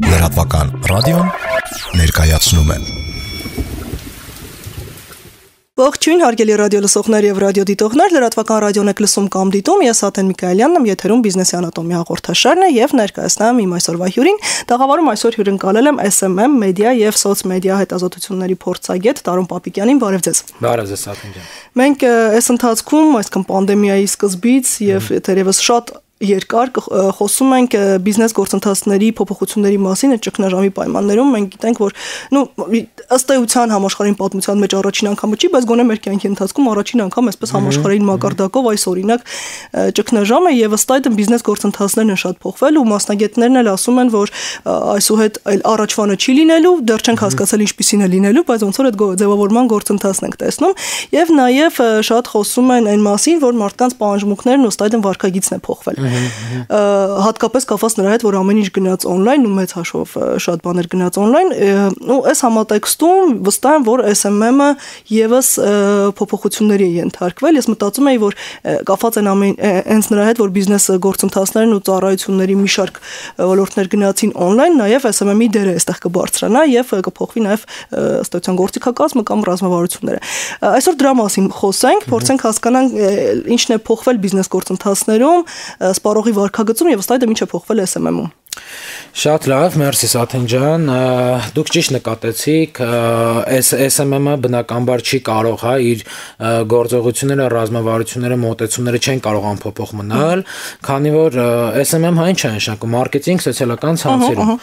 Լրատվական ռադիոն ներկայացնում է։ Ողջույն հարգելի ռադիո լսողներ եւ ռադիոդիտողներ, լրատվական ռադիոն եք լսում կամ դիտում, ես Աթեն Միքայելյանն եմ, եթերում բիզնեսի անատոմիա հաղորդաշարն է եւ ներկայացնում իմ այսօրվա հյուրին։ Տաղավարում այսօր հյուրընկալել եմ SMM մեդիա եւ սոցմեդիա հետազոտությունների փորձագետ Տարոն Պապիկյանին, բարև ձեզ։ Բարև ձեզ, Աթեն ջան։ Մենք այս ընթացքում, այսքան պանդեմիայի սկզբից եւ թերևս շատ երկար խոսում ենք բիզնես գործընթացների փոփոխությունների մասին այդ ճգնաժամի պայմաններում մենք գիտենք որ ըստ էության համաշխարհային պատմության մեջ առաջին անգամը չի, բայց գոնե մեր կյանքի ընթացքում առաջին անգամ այսպես համաշխարհային մակարդակով այս օրինակ ճգնաժամ է եւ ըստ այդմ բիզնես գործընթացներն են շատ փոխվել ու մասնագետներն էլ ասում են որ այսուհետ այլ առաջվանը չի լինելու, դեռ չենք հասկացել ինչպիսին է լինելու, բայց ոնց որ այդ ձևավորման գործընթացն ենք տեսնում եւ նաեւ շատ խոսում են այն մասին, որ մարդկանց պահանջմունքներն ըստ այդմ վարքագիծն է փոխվել։ Հատկապես կապված նրա հետ, որ ամեն ինչ գնաց on-line ու մեծ հաշվով շատ բաներ գնաց on-line, ու այս համատեքստում վստահ եմ, որ SMM-ը եւս փոփոխությունների է ենթարկվել։ Ես մտածում եի, որ կապված են հենց նրա հետ, որ բիզնես գործընթացներն ու ծառայությունների մի շարք ոլորտներ գնացին on-line, նաեւ SMM-ի դերը այստեղ կբարձրանա եւ կփոխվի նաեւ ըստ էության գործիքակազմը կամ ռազմավարությունները։ Այսօր դրա մասին խոսենք, փորձենք հասկանալ ինչն է փոխվել բիզնես գործընթացներում, սպառողի վարքագծում եւ ըստ այդմ ինչ է փոխվել SMM-ում։ Շատ լավ, մերսի Աթեն ջան, դուք ճիշտ նկատեցիք, SMM-ը բնականաբար չի կարող, հա, իր գործողությունները, ռազմավարությունները, մոտեցումները չեն կարող անփոփոխ մնալ, քանի որ SMM-ը ինչ է նշանակում, մարքեթինգ սոցիալական ցանցերում։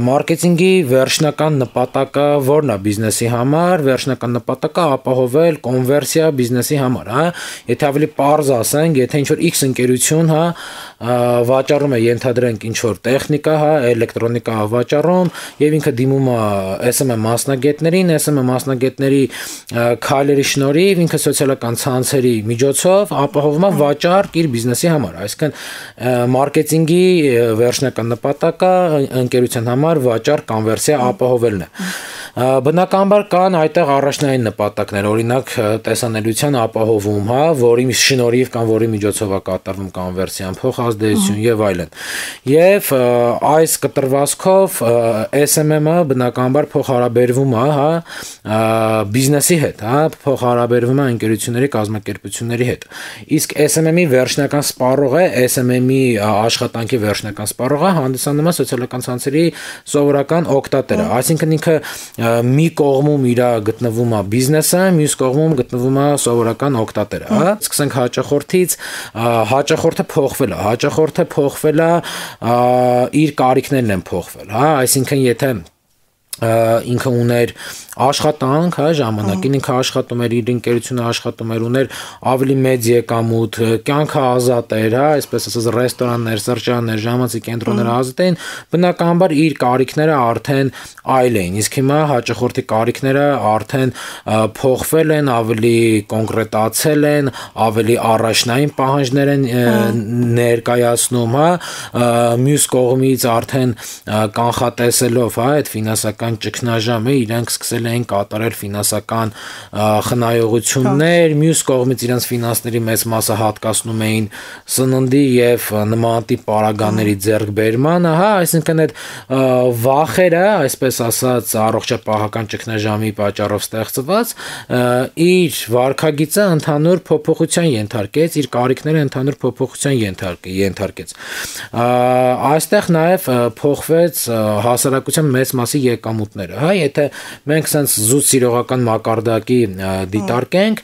Մարքեթինգի վերջնական նպատակը ո՞րն է բիզնեսի համար, վերջնական նպատակը ապահովել կոնվերսիա բիզնեսի համար, հա։ Եթե ավելի պարզ ասենք, եթե ինչ-որ X ընկերություն, հա, վաճառում է, ենթադրենք ինչ-որ տեխնիկա, հա, էլեկտրոնիկա վաճառում եւ ինքը դիմում է SMM մասնագետներին, SMM մասնագետների քայլերի շնորհիվ ինքը սոցիալական ցանցերի միջոցով ապահովում է վաճառք իր բիզնեսի համար, այսինքն մարքեթինգի վերջնական նպատակը ընկերության համար վաճառք կոնվերսիա ապահովելն է։ Բնականաբար կան այդտեղ առաջնային նպատակներ, օրինակ տեսանելիության ապահովում, հա, որի շնորհիվ կամ որի միջոցով է կատարվում կոնվերսիան, փոխազդեցություն եւ այլն։ Եվ այս կտրվածքով SMM-ը բնականաբար փոխհարաբերվում է, հա, բիզնեսի հետ, հա, փոխհարաբերվում է ընկերությունների, կազմակերպությունների հետ։ Իսկ SMM-ի վերջնական սպառողը, SMM-ի աշխատանքի վերջնական սպառողը հանդիսանում է սոցիալական ցանցերի սովորական օգտատերը, այսինքն ինքը մի կողմում իր գտնվում է բիզնեսը, մյուս կողմում գտնվում է սովորական օգտատերը, հա։ Սկսենք հաճախորդից, հաճախորդը փոխվել է, իր կարիքներն են փոխվել, հա, այսինքն եթե ինքը ուներ աշխատանք, հա, ժամանակին ինքը աշխատում էր, իր ընկերությունը աշխատում էր, ուներ ավելի մեծ եկամուտ, կյանքը ազատ էր, հա, այսպես ասած ռեստորաններ, սրճարաններ, ժամանցի կենտրոնները ազատ էին, բնականաբար իր կարիքները արդեն այլ էին, իսկ հիմա հաճախորդի կարիքները արդեն փոխվել են, ավելի կոնկրետացել են, ավելի առաջնային պահանջներ են ներկայացնում, հա, մյուս կողմից արդեն կանխատեսելով, հա, այդ ֆինանսական ճգնաժամը իրանք սկսել էին կատարել ֆինանսական խնայողություններ, մյուս կողմից իրենց ֆինանսների մեծ մասը հատկացնում էին սննդի եւ նմանատիպ պարագաների ձեռքբերմանը, հա, այսինքն այդ վախերը, այսպես ասած, առողջապահական ճգնաժամի պատճառով ստեղծված, իր վարքագիծը ընդհանուր փոփոխության ենթարկեց, իր կարիքները ընդհանուր փոփոխության ենթարկեց։ Այստեղ նաեւ փոխվեց հասարակության մեծ մասի եկամուտները, հա, եթե մենք sense զուտ սիրողական մակարդակի դիտարկենք,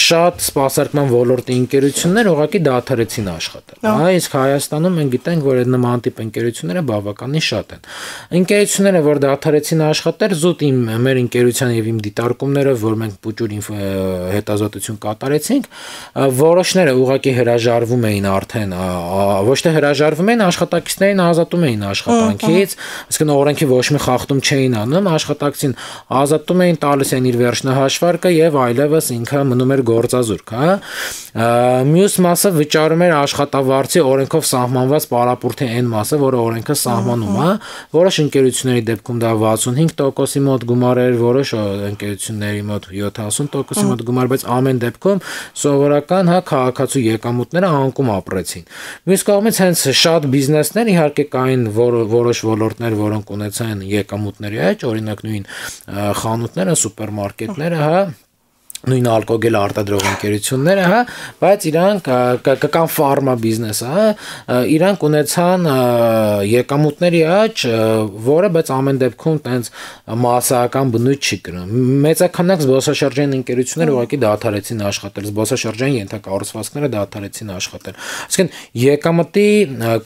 շատ սպասարկման ոլորտի ընկերություններ ուղղակի դադարեցին աշխատել, հա, իսկ Հայաստանում մենք գիտենք, որ այդ նման տիպ ընկերությունները բավականին շատ են։ Ընկերությունները, որ դադարեցին աշխատել, զուտ մեր ընկերության եւ իմ դիտարկումներով, որ մենք փուճուր հետազոտություն կատարեցինք, որոշները ուղղակի հրաժարվում էին արդեն, ոչ թե հրաժարվում էին, աշխատակիցներին ազատում էին աշխատանքից, այսինքն օրենքի ոչ մի խախտում չէին անում, աշխատակցին ազատում էին, տալիս էին իր վերջնահաշվարկը եւ այլևս ինքը մնում էր գործազուրկ, հա։ Մյուս մասը վճարում էր աշխատավարձի օրենքով սահմանված պարապորտի այն մասը, որը օրենքը սահմանում է, որոշ ընկերությունների դեպքում դա 65%-ի մոտ գումար էր, որոշ ընկերությունների մոտ 70%-ի մոտ գումար, բայց ամեն դեպքում սովորական, հա, քաղաքացու եկամուտները անկում ապրեցին։ Մյուս կողմից հենց շատ բիզնեսներ իհարկե կային որոշ ոլորտներ, որոնք ունեցան եկամուտների աճ, օրինակ նույն խանութները, սուպերմարկետները, հա, նույն ալկոգել արտադրող ընկերությունները, հա, բայց իրանք կան ֆարմա բիզնեսը, հա, իրանք ունեցան եկամուտների աճ, որը բայց ամեն դեպքում տենց մասսայական բնույթ չի կրում։ Մեծականակ զբոսաշրջային ընկերությունները ուղղակի դադարեցին աշխատել, զբոսաշրջային ենթակառուցվածքները դադարեցին աշխատել։ Այսինքն եկամտի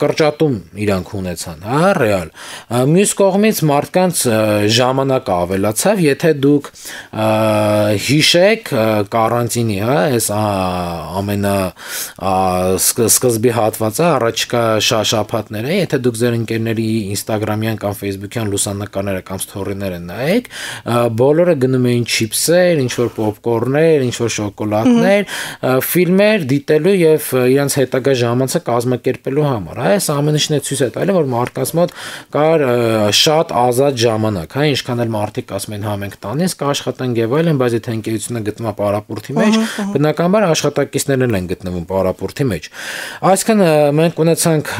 կրճատում իրանք ունեցան, հա, ռեալ։ Մյուս կողմից մարդկանց ժամանակը ավելացավ, եթե դուք հիշեք կարանտինի, հա, այս ամենա սկզբի հատվածը առաջիկա շաբաթները, եթե դուք ձեր ընկերների Instagram-յան կամ Facebook-յան լուսանկարները կամ սթորիները նայեք, բոլորը գնում էին չիփսեր, ինչ-որ պոպկորներ, ինչ-որ շոկոլադներ, ֆիլմեր դիտելու եւ իրենց հետագա ժամանցը կազմակերպելու համար, հա, այս ամենը ցույց է տալի, որ մարդկանց մոտ կար շատ ազատ ժամանակ, հա, ինչքան էլ մարդիկ ասում են հա մենք տանից կաշխատենք եւ այլն, բայց եթե ընկերությունը գտնվում է պարապորտի մեջ, բնականաբար աշխատակիցներն են գտնվում պարապորտի մեջ։ Այսինքն մենք ունեցանք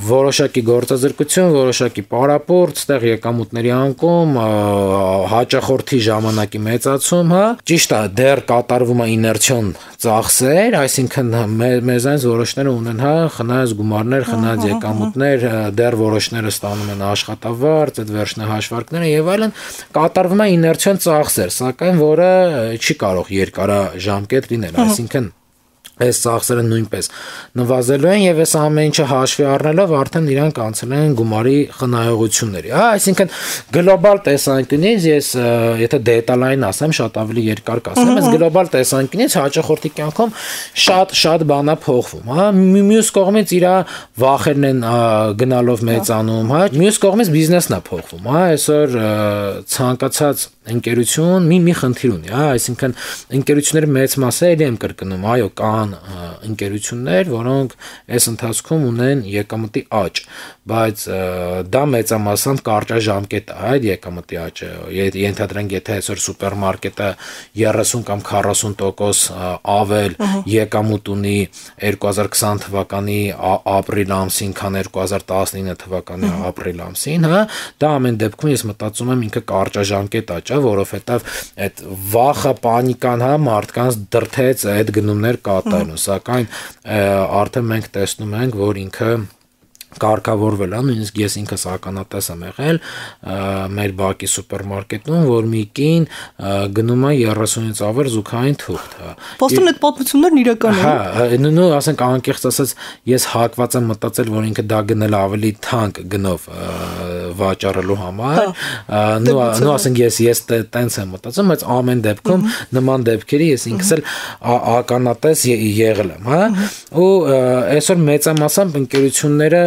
որոշակի գործազրկություն, որոշակի պարապորտ, այդտեղ եկամուտների անկում, հաճախորդի ժամանակի մեծացում, հա, ճիշտ է, դեռ կատարվում է իներցիոն ծախսեր, այսինքն մեզանից որոշները ունեն, հա, խնայած գումարներ, խնայած եկամուտներ, դեռ որոշները ստանում են աշխատավարձ, այդ վերջնահաշվարկները եւ այլն, կատարվում է իներցիոն ծախսեր, սակայն որը չի կարող երկարաժամկետ լինել, այսինքն այս ծախսերը նույնպես նվազելու են եւ այս ամեն ինչը հաշվի առնելով արդեն իրանք անցել են գումարի խնայողությունների։ Հա, այսինքն գլոբալ տեսանկյունից ես եթե դետալային ասեմ, շատ ավելի երկար կասեմ, այս գլոբալ տեսանկյունից հաճախորդի կյանքում շատ բան է փոխվում, հա։ Մյուս կողմից իր վախերն են գնալով մեծանում, հա։ Մյուս կողմից բիզնեսն է փոխվում, հա։ Այսօր ցանկացած ընկերություն մի խնդիր ունի, հա, այսինքն ընկերությունների մեծ մասը էլի եմ կրկնում, այո, կան ընկերություններ, որոնք այս ընթացքում ունեն եկամտի աճ, բայց դա մեծամասամբ կարճաժամկետ է, այդ եկամտի աճը, ենթադրենք, եթե այսօր սուպերմարկետը 30 կամ 40% ավել եկամուտ ունի 2020 թվականի ապրիլ ամսին, քան 2019 թվականի ապրիլ ամսին, հա, դա ամեն դեպքում ես մտածում եմ ինքը կարճաժամկետ աճ է, որովհետև այդ վախը, պանիկան, հա, մարդկանց դրթեց այդ գնումներ կատարելու, սակայն արդեն մենք տեսնում ենք, որ ինքը կարգավորվել է, նույնիսկ ես ինքս ականատես եմ եղել մեր բակի սուպերմարկետում, որ մի կին գնում է 30-ից ավել զուգային թուղթ, հա։ Պոստում այդ պատմություններն իրական են։ Հա, նույն ասենք անկեղծ ասած, ես հակված եմ մտածել, որ ինքը դա գնել ավելի թանկ գնով վաճառելու համար, նույն ասենք ես տենց եմ մտածում, բայց ամեն դեպքում նման դեպքերի ես ինքս էլ ականատես եղել եմ, հա, ու այսօր մեծամասամբ ընկերությունները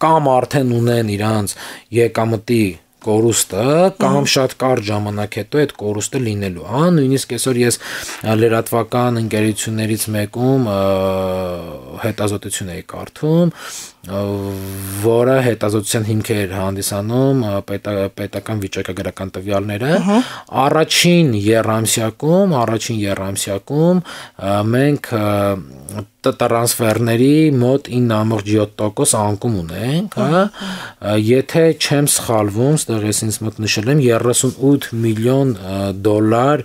կամ արդեն ունեն իրանց եկամտի կորուստը կամ շատ կարճ ժամանակ հետո այդ կորուստը լինելու, հա, նույնիսկ այսօր ես լրատվական ընկերություններից մեկում հետազոտություն էի կարդում, որը հետազոտության հիմք էր հանդիսանում պետական վիճակագրական տվյալները, առաջին եռամսյակում մենք տրանսֆերների մոտ 9.7% անկում ունենք, հա, եթե չեմ սխալվում, ստեղ ես ինձ մոտ նշել եմ 38 միլիոն դոլար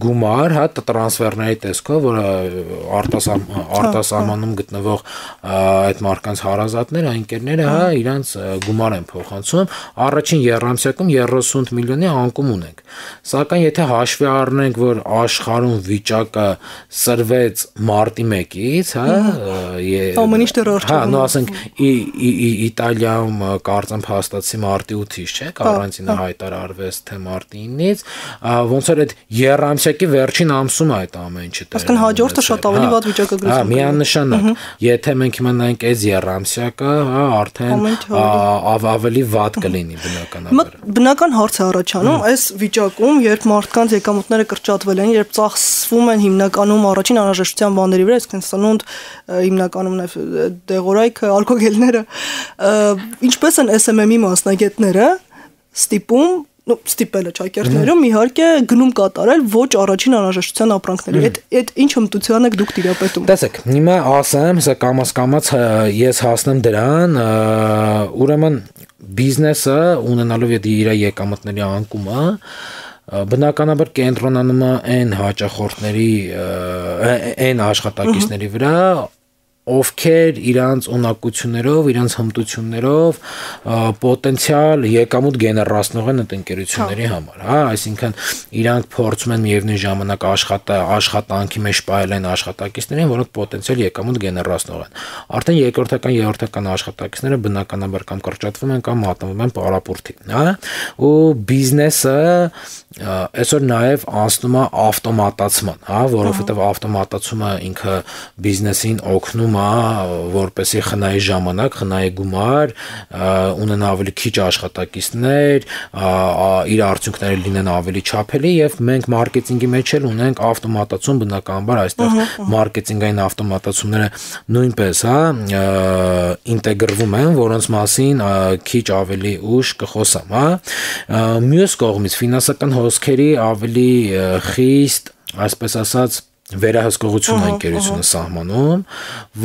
գումար, հա, տրանսֆերների տեսքով, որը արտասահմանում գտնվող այդ մարդկանց հարազատները, ընկերները, հա, իրանց գումար են փոխանցում, առաջին եռամսյակում 30 միլիոնի անկում ունենք, սակայն եթե հաշվի առնենք, որ աշխարհում վիճակը սրվեց մարտի 1-ից, հա, ամեն ինչ դեռ արդյունքում, հա, նո ասենք Իտալիայում կարծեմ հաստատվի մարտի 8-ից, չէ, կարանտինը հայտարարվեց թե մարտի 9-ից, ոնց որ այդ եռամսյակի վերջին ամսում է այդ ամեն ինչը։ Այսինքն հաջորդը շատ ավելի վատ վիճակագրություն։ Հա, միանշանակ, եթե մենք հիմա նայենք այս ամսյակը, հա, արդեն ավելի վատ կլինի բնականաբար։ Բնական հարց է առաջանում, այս վիճակում, երբ մարդկանց եկամուտները կրճատվել են, երբ ծախսվում են հիմնականում առաջին անհրաժեշտության բաների վրա, այսինքն սնունդ, հիմնականում նաև դեղորայքը, ալկոգելները, ինչպես են SMM-ի մասնագետները ստիպում ստիպելը ճակերտներում իհարկե գնում կատարել ոչ առաջին անհրաժեշտության ապրանքների։ Այդ ինչ հմտության եք դուք տիրապետում։ Տեսեք, հիմա ասեմ, սա կամաց ես հասնեմ դրան, ուրեմն բիզնեսը ունենալով իր եկամուտների անկումը բնականաբար կենտրոնանում է այն հաճախորդների, այն աշխատակիցների վրա, ովքեր իրանց ունակություններով, իրանց հմտություններով պոտենցիալ եկամուտ գեներացնող են այդ ընկերությունների համար, հա, այսինքն իրանք փորձում են միևնույն ժամանակ աշխատանքի մեջ պահել են աշխատակիցներին, որոնք պոտենցիալ եկամուտ գեներացնող են։ Արդեն երկրորդական, երրորդական աշխատակիցները բնականաբար կամ կրճատվում են կամ մատնվում են պարապուրտի, հա, ու բիզնեսը այսօր նաև անցնում է ավտոմատացման, հա, որովհետև ավտոմատացումը ինքը բիզնեսին օգնում որպեսի խնայի ժամանակ, խնայի գումար, ունենա ավելի քիչ աշխատակիցներ, իր արդյունքները լինեն ավելի չափելի եւ մենք մարքեթինգի մեջ էլ ունենք ավտոմատացում բնականաբար այստեղ մարքեթինգային ավտոմատացումները նույնպես, հա, ինտեգրվում են, որոնց մասին քիչ ավելի ուշ կխոսամ, հա։ Մյուս կողմից ֆինանսական հոսքերի ավելի խիստ, այսպես ասած, վերահսկողություն ընկերությունը սահմանում,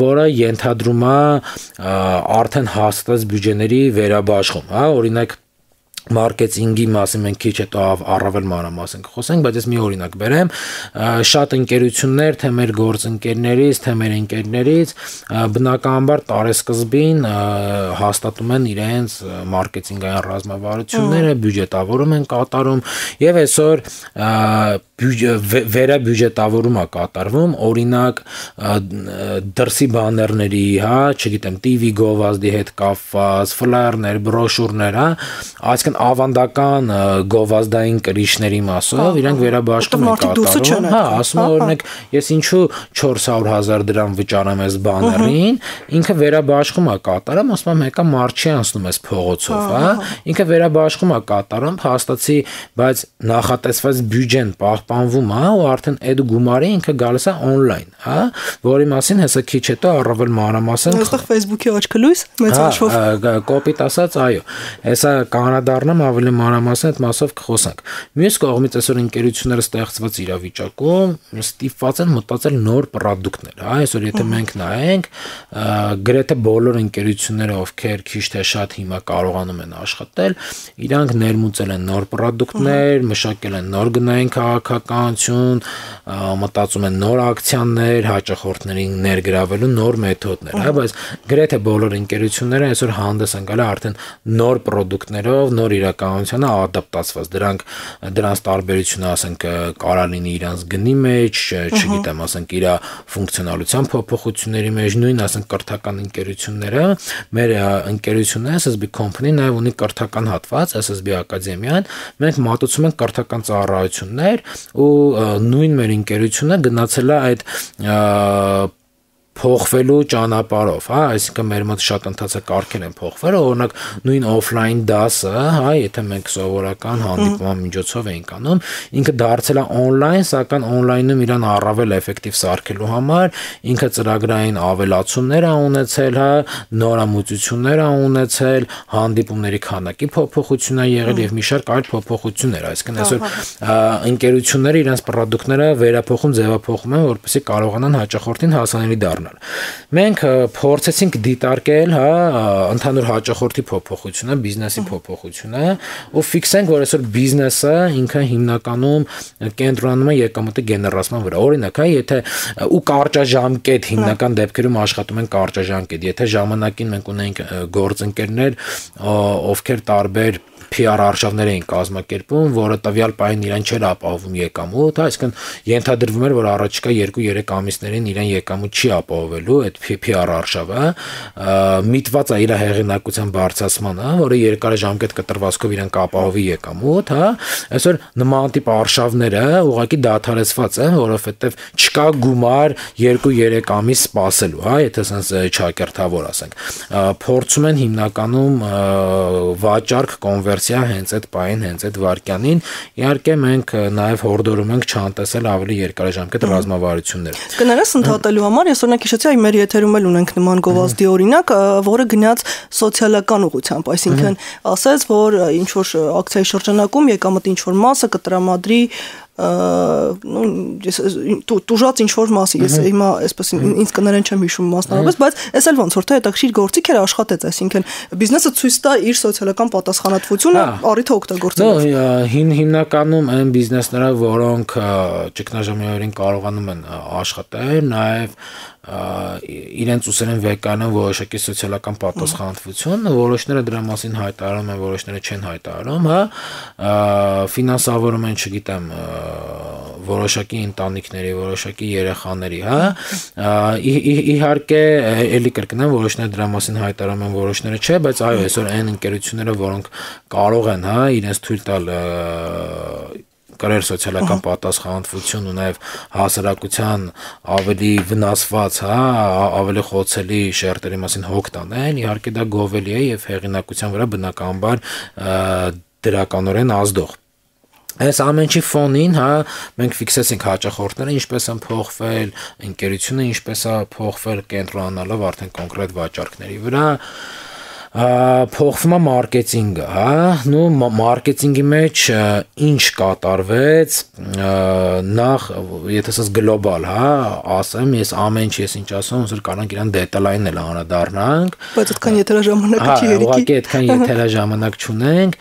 որը ենթադրում է արդեն հաստատած բյուջեների վերաբաշխում, հա, օրինակ մարքեթինգի մասին մենք քիչ հետո առավել մանրամասն կխոսենք, բայց ես մի օրինակ բերեմ, շատ ընկերություններ, թե մեր գործընկերներից, թե մեր ընկերներից բնականաբար տարեսկզբին հաստատում են իրենց մարքեթինգային ռազմավարությունները, բյուջետավորում են կատարում եւ այսօր վերաբյուջետավորում է կատարվում, օրինակ դրսի բաներների, հա, չգիտեմ, TV գովազդի հետ կապված, ֆլայերներ, բրոշուրներ, հա, այսինքն ավանդական գովազդային կրիչների մասով իրանք վերաբաշխում են կատարում, հա, ասում են օրինակ ես ինչու 400,000 դրամ վճարեմ այս բաներին, ինքը վերաբաշխում է կատարում, ասում եմ մեկը մարդ չի անցնում այս փողոցով, հա, ինքը վերաբաշխում է կատարում, հաստատի, բայց նախատեսված բյուջեն պահպանվում է ու արդեն այդ գումարը ինքը գալիս է on-line, հա, որի մասին հեսա քիչ հետո առավել մանրամասն այստեղ Facebook-ի աչքը լույս մեծ հաշվով կոպիտ ասած, այո, հեսա կանադառնամ ավելի մանրամասն այդ մասով կխոսանք։ Մյուս կողմից այսօր ընկերությունները ստեղծված իրավիճակում ստիպված են մտածել նոր պրոդուկտներ, հա, այսօր եթե մենք նայենք, գրեթե բոլոր ընկերությունները, ովքեր քիչ թե շատ հիմա կարողանում են աշխատել, իրանք ներմուծել են նոր պրոդուկտներ, մշակել են նոր գնային քաղաքականություն, մտածում են նոր ակցիաներ, հաճախորդներին ներգրավելու նոր մեթոդներ, հա, բայց գրեթե բոլոր ընկերությունները այսօր հանդես են գալի արդեն նոր պրոդուկտներով, նոր իրականությանը ադապտացված, դրանց տարբերությունը, ասենք, կարա լինի իրանց գնի մեջ, չգիտեմ, ասենք, իր ֆունկցիոնալության փոփոխությունների մեջ, նույն, ասենք, կրթական ընկերությունները, մեր ընկերությունները, SSB Company-ն նաև ունի կրթական հատված, SSB Ակադեմիան, մենք մատուցում ենք կրթական ծառայություններ ու նույն մեր ընկերությունը գնացել է այդ փոխվելու ճանապարհով, հա, այսինքն մեր մոտ շատ ընթացակարգեր են փոխվել, օրինակ նույն օֆլայն դասը, հա, եթե մենք սովորական հանդիպման միջոցով էինք անում, ինքը դարձել է on-line, սակայն on-line-ում իրան առավել էֆեկտիվ սարքելու համար ինքը ծրագրային ավելացումներ ա ունեցել, հա, նորամուծություններ ա ունեցել, հանդիպումների քանակի փոփոխություն ա եղել եւ մի շարք այլ փոփոխություններ, այսինքն այսօր ընկերությունները իրենց պրոդուկտները վերափոխում, ձևափոխում են, որպեսզի կարողանան հաճախորդին հասանելի դառնալ։ Մենք փորձեցինք դիտարկել, հա, ընդհանուր հաճախորդի փոփոխությունը, բիզնեսի փոփոխությունը, ու ֆիքսենք, որ այսօր բիզնեսը ինքը հիմնականում կենտրոնանում է եկամուտի գեներացման վրա։ Օրինակ, հա, եթե ու կարճաժամկետ հիմնական դեպքերում աշխատում են կարճաժամկետ, եթե ժամանակին մենք ունենք գործընկերներ, ովքեր տարբեր PR արշավներ էին կազմակերպում, որը տվյալ պահին իրեն չէր ապահովում եկամուտ, այսինքն ենթադրվում էր, որ առաջիկա 2-3 ամիսներին իրեն եկամուտ չի ապահովելու այդ PR արշավը, միտված է իր հեղինակության բարձրացմանը, որը երկարաժամկետ կտրվածքով իրեն կապահովի եկամուտ, հա, այսօր նման տիպ արշավները ուղղակի դադարեցված են, որովհետև չկա գումար 2-3 ամիս սպասելու, հա, եթե ասենց չակերտավոր ասենք, փորձում են հիմնականում վաճառք կոնվերսիա հենց այդ պահին, հենց այդ վարքյանին, իհարկե մենք նաև հորդորում ենք չանտեսել ավելի երկարաժամկետ ռազմավարություններ։ Կներես ընդհատելու համար ես օրինակ հիշեցի, այ մեր եթերում էլ ունենք նման գովազդի օրինակ, որը գնաց սոցիալական ուղղությամբ, այսինքն ասեց, որ ինչ որ ակցիայի շրջանակում եկամտի ինչ որ մասը կտրամադրի տուժած ինչ որ մասի, ես հիմա այսպես ինձ կներեն չեմ հիշում մասնավորապես, բայց էս էլ ոնց որ թե հետաքրքիր գործիք էր աշխատեց, այսինքն բիզնեսը ցույց տա իր սոցիալական պատասխանատվությունը առիթը օգտագործելով։ Հիմնականում այն բիզնեսները, որոնք ճգնաժամային կարողանում են աշխատել, նաև իրենց ուսերեն վեկայանում որոշակի սոցիալական պատասխանատվություն, որոշները դրա մասին հայտարարում են, որոշները չեն հայտարարում, հա, ֆինանսավորում են, չգիտեմ, որոշակի ընտանիքների, որոշակի երեխաների, հա, իհարկե էլի կրկնեմ, որոշները դրա մասին հայտարարում են, որոշները չէ, բայց այո, այսօր այն ընկերությունները, որոնք կարող են, հա, իրենց թույլ տալ կրել սոցիալական պատասխանատվություն ու նաև հասարակության ավելի վնասված, հա, ավելի խոցելի շերտերի մասին հոգ տանել, իհարկե դա գովելի է եւ հեղինակության վրա բնականաբար դրականորեն ազդող։ Այս ամենի ֆոնին, հա, մենք ֆիքսեցինք հաճախորդները ինչպես են փոխվել, ընկերությունը ինչպես է փոխվել, կենտրոնանալով արդեն կոնկրետ վաճառքների վրա, փոխվում է մարքեթինգը, հա, նո մարքեթինգի մեջ ինչ կատարվեց, նախ եթե ասած գլոբալ, հա, ասեմ, ես ամեն ինչ ես ինչ ասում, ոնց որ կարանք իրան դետալային էլ անդրադառնանք, բայց այդքան եթերաժամանակը չի երիկի։ Ուղղակի այդքան եթերաժամանակ չունենք,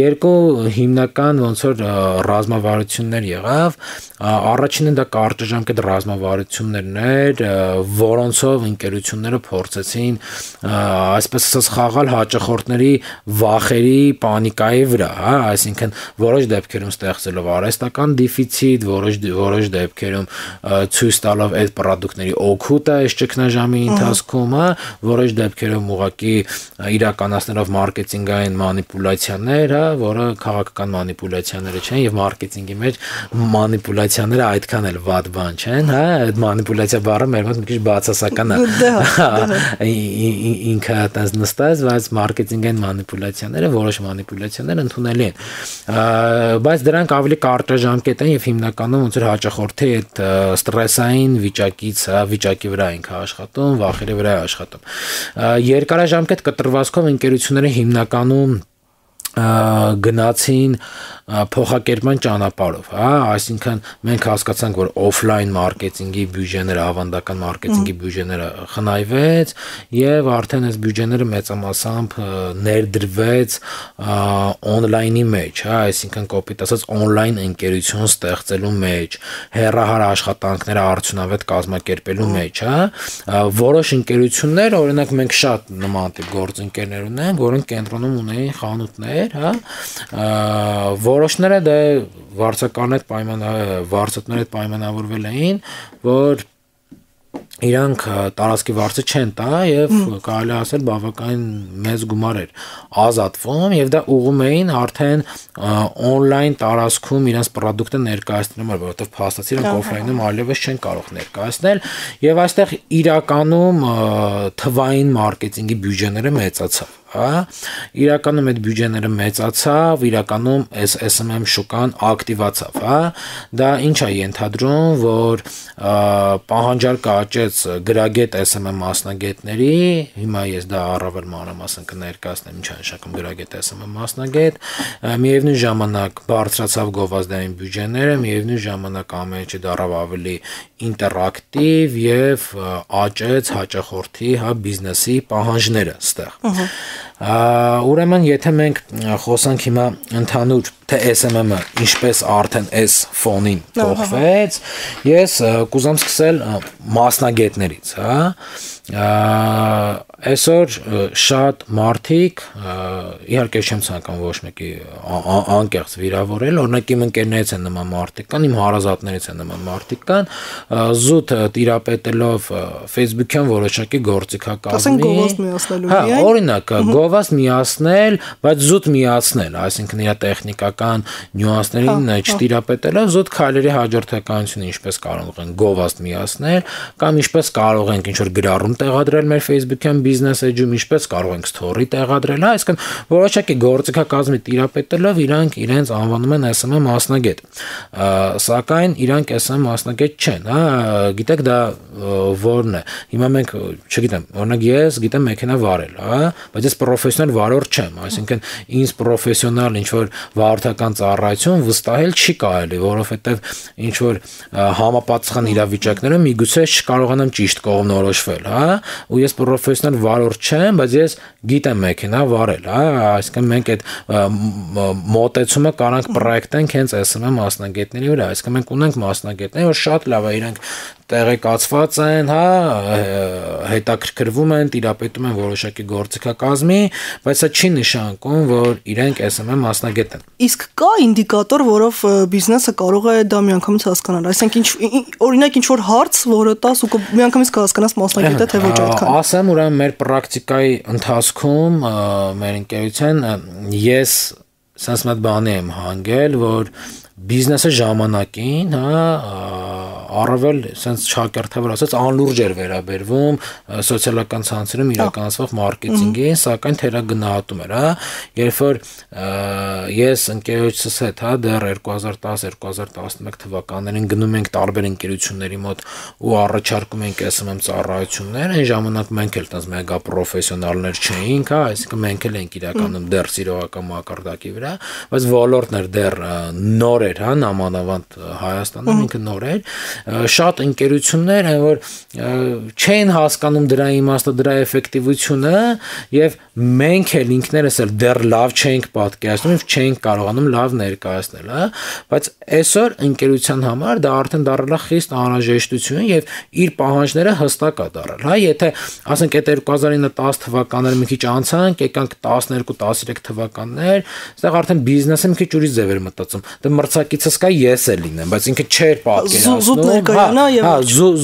երկու հիմնական ոնց որ ռազմավարություններ եղավ, առաջինը դա կարճաժամկետ ռազմավարություններն էր, որոնցով ընկերությունները փորձեցին այսպես ասած խաղալ հաճախորդների վախերի, պանիկայի վրա, հա, այսինքն որոշ դեպքերում ստեղծելով արհեստական դեֆիցիտ, որոշ դեպքերում ցույց տալով այդ պրոդուկտների օգուտը այս ճգնաժամի ընթացքում, հա, որոշ դեպքերում ուղղակի իրականացնելով մարքեթինգային մանիպուլյացիաներ, հա, որը քաղաքական մանիպուլյացիաները չեն եւ մարքեթինգի մեջ մանիպուլյացիաները այդքան էլ վատ բան չեն, հա, այդ մանիպուլյացիա բառը մեր մոտ մի քիչ բացասական է։ Ինքը այդպես նստած, բայց մարքեթինգային մանիպուլյացիաները, որոշ մանիպուլյացիաներ ընդունելի են, բայց դրանք ավելի կարճաժամկետ են եւ հիմնականում ոնց որ հաճախորդի այդ ստրեսային վիճակի վրա ենք աշխատում, վախերի վրա է աշխատում։ Երկարաժամկետ կտրվածքով ընկերությունները հիմնականում գնացին փոխակերպման ճանապարհով, հա, այսինքն մենք հասկացանք, որ օֆլայն մարքեթինգի բյուջեները, ավանդական մարքեթինգի բյուջեները խնայվեց եւ արդեն այս բյուջեները մեծամասամբ ներդրվեց օնլայնի մեջ, հա, այսինքն կոպիտ ասած օնլայն ընկերություն ստեղծելու մեջ, հեռահար աշխատանքները արդյունավետ կազմակերպելու մեջ, հա, որոշ ընկերություններ, օրինակ մենք շատ նման տիպ գործընկերներ ունենք, որոնք կենտրոնում ունեին խանութներ, հա, որոշները դե վարձածների հետ պայմանավորվել էին, որ իրանք տարածքի վարձը չեն տա եւ կարելի ասել բավական մեծ գումար էր ազատվում եւ դա ուղում էին արդեն օնլայն տարածքում իրենց պրոդուկտը ներկայացնելու, որովհետեւ փաստացի իրանք օֆլայնում այլևս չեն կարող ներկայացնել եւ այստեղ իրականում թվային մարքեթինգի բյուջեները մեծացավ, հա, իրականում այդ բյուջեները մեծացավ, իրականում SMM շուկան ակտիվացավ, հա, դա ինչ է ենթադրում, որ պահանջարկը աճեց գրագետ SMM մասնագետների, հիմա ես դա առավել մանրամասն կներկայացնեմ, ինչ է նշանակում գրագետ SMM մասնագետ, միևնույն ժամանակ բարձրացավ գովազդային բյուջեները, միևնույն ժամանակ ամեն ինչը դառավ ավելի ինտերակտիվ եւ աճեց հաճախորդի, հա, բիզնեսի պահանջները ստեղ։ Ուրեմն եթե մենք խոսանք հիմա ընդհանուր թե SMM-ը ինչպես արդեն այս ֆոնին փոխվեց, ես կուզեմ սկսել մասնագետներից, հա, այսօր շատ մարդիկ իհարկե չեմ ցանկանում ոչ մեկի անկեղծ վիրավորել, օրինակ իմ ընկերներից են նման մարդիկ կան, իմ հարազատներից են նման մարդիկ կան, զուտ տիրապետելով Facebook-յան որոշակի գործիքակազմի, գովազդ միացնելու միայն, օրինակ գովազդ միացնել, բայց զուտ միացնել, այսինքն իր տեխնիկական նյուանսներին չտիրապետելով զուտ քայլերի հաջորդականությունը ինչպես կարող են գովազդ միացնել, կամ ինչպես կարող ենք ինչ-որ գրառում տեղադրել մեր Facebook-յան բիզնես էջում, ինչպես կարող ենք story տեղադրել, այսինքն որոշակի գործիքակազմի տիրապետելով իրանք իրենց անվանում են SMM մասնագետ, սակայն իրանք SMM մասնագետ չեն, գիտեք դա որն է, հիմա մենք, չգիտեմ, օրինակ ես գիտեմ մեքենա վարել, բայց ես պրոֆեսիոնալ վարորդ չեմ, այսինքն ինձ պրոֆեսիոնալ ինչ-որ վարորդական ծառայություն վստահել չի կարելի, որովհետև ինչ-որ համապատասխան իրավիճակներում միգուցե չկարողանամ ճիշտ կողմնորոշվել, ու ես պրոֆեսիոնալ վարորդ չեմ, բայց ես գիտեմ մեքենա վարել, այսինքն մենք այդ մոտեցումը կարանք պրոյեկտենք հենց SMM մասնագետների վրա, այսինքն մենք ունենք մասնագետներ, որ շատ լավ է իրանք տեղեկացված են, հետաքրքրվում են, տիրապետում են որոշակի գործիքակազմի, բայց սա չի նշանակում, որ իրենք SMM մասնագետ են։ Իսկ կա ինդիկատոր, որով բիզնեսը կարող է դա միանգամից հասկանալ, այսինքն օրինակ ինչ-որ հարց, որը տաս ու միանգամից կհասկանաս մասնագետ է, թե ոչ այդքան։ Ասեմ, ուրեմն մեր պրակտիկայի ընթացքում մեր ընկերության ես sense մի բանի եմ հանգել, որ բիզնեսը ժամանակին, առավել sense չակերտավոր ասած անլուրջ էր վերաբերվում սոցիալական ցանցերում իրականացվող մարքեթինգին, սակայն թերագնահատում էր, երբ որ ես ընկերոջս հետ, դեռ 2010-2011 թվականներին գնում ենք տարբեր ընկերությունների մոտ ու առաջարկում ենք SMM ծառայություններ, այն ժամանակ մենք էլ տես մեգա պրոֆեսիոնալներ չէինք, այսինքն մենք էլ ենք իրականում դեռ սիրողական մակարդակի վրա, բայց ոլորտն էր դեռ նոր էր, նամանավանդ Հայաստանում ինքը նոր էր, շատ ընկերություններ են, որ չեն հասկանում դրա իմաստը, դրա էֆեկտիվությունը եւ մենք էլ ինքներս էլ դեռ լավ չենք պատկերացնում, չենք կարողանում լավ ներկայացնել, բայց այսօր ընկերության համար դա արդեն դառել է խիստ անհրաժեշտություն եւ իր պահանջները հստակ է դառել, եթե ասենք այդ 2009-10 թվականները մի քիչ անցանք, եկանք 12-13 թվականներ, այստեղ արդեն բիզնեսը մի քիչ ուրիշ ձև էր մտածում, դա մրցակիցս կա ես էլ լինեմ, բայց ինքը չէր պատկերացնում,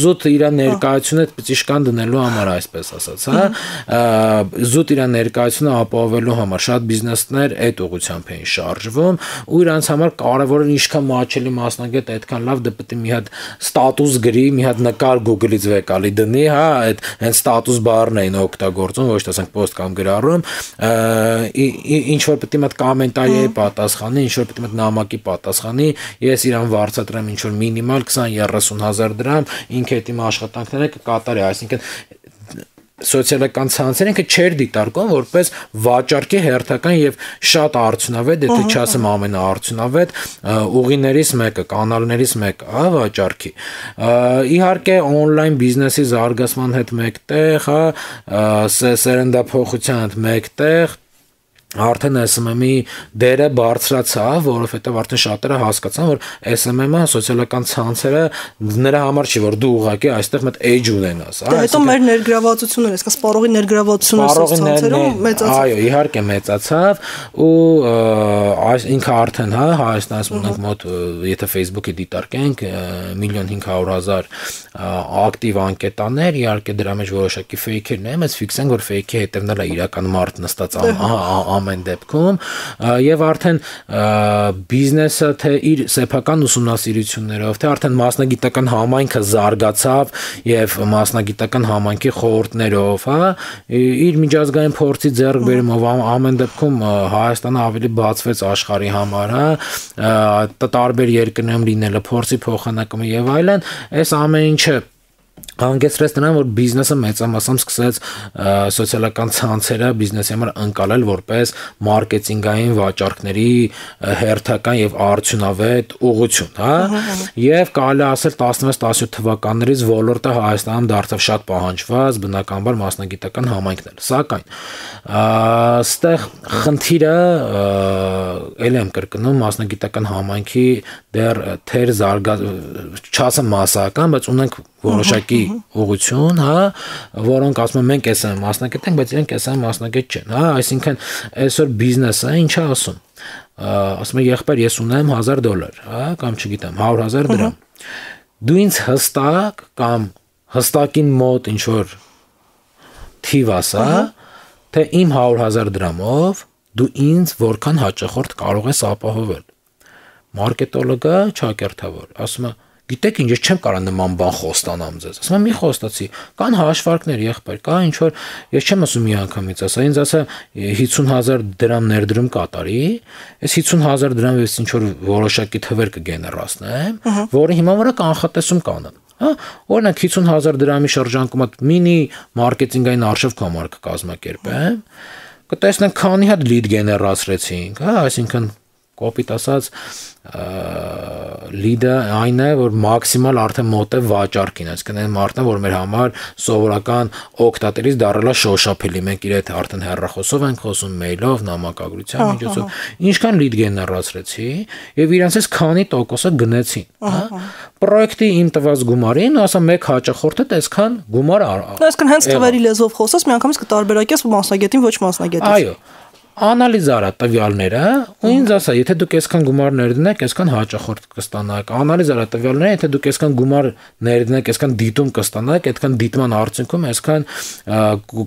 զուտ իր ներկայությունը պիտի դնելու համար, այսպես ասած, զուտ իր ներկայությունը ապահովելու համար շատ բիզնեսներ այդ ուղղությամբ էին շարժվում ու իրանց համար կարևոր է ինչքան մաչելի մասնագետ այդքան լավ դա պետք է մի հատ ստատուս գրի, մի հատ նկար Google-ից վեկալի դնի, այդ հենց ստատուս բառն էին օգտագործում, ոչ թե ասենք post կամ գրառում, ինչ որ պետք է մտ կոմենտարի պատասխանի, ինչ որ պետք է մտ նամակի պատասխանի, ես իրան վարձատրեմ ինչ որ մինիմալ 20-30 հազար դրամ, ինքը այդ իմ աշխատանքները կկատարի, այսինքն սոցիալական ցանցերը ինքը չէր դիտարկում որպես վաճառքի հերթական եւ շատ արդյունավետ, եթե չասեմ ամենաարդյունավետ ուղիներից մեկը, կանալներից մեկը, վաճառքի։ Իհարկե on-line բիզնեսի զարգացման հետ մեկտեղ, սերնդափոխության հետ մեկտեղ արդեն SMM-ի դերը բարձրացավ, որովհետև արդեն շատերը հասկացան, որ SMM-ը սոցիալական ցանցերը նրա համար չի, որ դու ուղղակի այստեղ մեծ edge ունենաս, Դա հետո մեր ներգրավվածությունները, այսինքն սպառողի ներգրավվածությունը սոցցանցերում մեծացավ։ Այո, իհարկե մեծացավ ու ինքը արդեն Հայաստանում ունենք մոտ, եթե Facebook-ի դիտարկենք 1.500.000 ակտիվ անկետաներ, իհարկե դրա մեջ որոշակի fake-երն են, բայց ֆիքսենք, որ fake-ի հետևն էլ է իրական մարդ նստած ամեն դեպքում եւ արդեն բիզնեսը թե իր սեփական ուսումնասիրություններով թե արդեն մասնագիտական համայնքը զարգացավ եւ մասնագիտական համայնքի խորհուրդներով, իր միջազգային փորձի ձեռքբերումով ամեն դեպքում Հայաստանը ավելի բացվեց աշխարհի համար, տարբեր երկրներում լինելը փորձի փոխանակումը եւ այլն, այս ամեն ինչը հանգեցրեց նրան, որ բիզնեսը մեծամասամբ սկսեց սոցիալական ցանցերը բիզնեսի համար ընկալել որպես մարքեթինգային վաճառքների հերթական եւ արդյունավետ ուղղություն, եւ կարելի ասել 16-17 թվականներից ոլորտը Հայաստանում դարձավ շատ պահանջված, բնականաբար մասնագիտական համայնքներ, սակայն այստեղ խնդիրը ել եմ կրկնում մասնագիտական համայնքի դեռ թեր չասեմ մասսայական, բայց ունենք որոշակի ուղղություն, հա, որոնք ասում են մենք էս մասնակետ ենք, բայց իրենք էս մասնակետ չեն, հա, այսինքն այսօր բիզնեսը ինչա ասում։ Ասում է եղբայր ես ունեմ $1000, հա, կամ չգիտեմ 100,000 դրամ։ Դու ինձ հստակ կամ հստակին մոտ ինչ որ թիվ ասա, թե իմ 100,000 դրամով դու ինձ որքան հաճախորդ կարող ես ապահովել։ Մարկետոլոգը ճակերտավոր, ասում է գիտեք ինչ, ես չեմ կարող նման բան խոստանամ ձեզ։ Ասում եմ մի խոստացի, կան հաշվարկներ, եղբայր, կա ինչ որ ես չեմ ասում մի անգամից, ասա ինձ ասա 50,000 դրամ ներդրում կատարի, այս 50,000 դրամից ինչ որ որոշակի թվեր կգեներացնեմ, որը հիմա վրա կանխատեսում կանեմ։ Հա, օրինակ 50,000 դրամի շրջանակում մինի մարքեթինգային արժեվ կամար կկազմակերպեմ, կտեսնենք քանի հատ լիդ գեներացրեցինք, հա, այսինքն կոպիտ ասած լիդը այն է, որ մաքսիմալ արդեն մոտ է վաճառքին, այսինքն այն մարդն է, որ մեր համար սովորական օգտատերից դառնալա շոշափելի, մենք իր հետ արդեն հեռախոսով ենք խոսում, մեյլով, նամակագրության միջոցով, ինչքան լիդ գեներացրեցի եւ իրանցից քանի տոկոսը գնեցին, հա, պրոյեկտի իմ տված գումարին, ասա մեկ հաճախորդը այսքան գումար այսինքն հենց թվերի լեզվով խոսած միանգամից կտարբերակես մասնագետին ոչ մասնագետից։ Այո, անալիզ արա տվյալները ու ինձ ասա, եթե դուք այսքան գումար ներդնեք, այսքան հաճախորդ կստանաք, անալիզ արա տվյալները, եթե դուք այսքան գումար ներդնեք, այսքան դիտում կստանաք, այդքան դիտման արդյունքում այսքան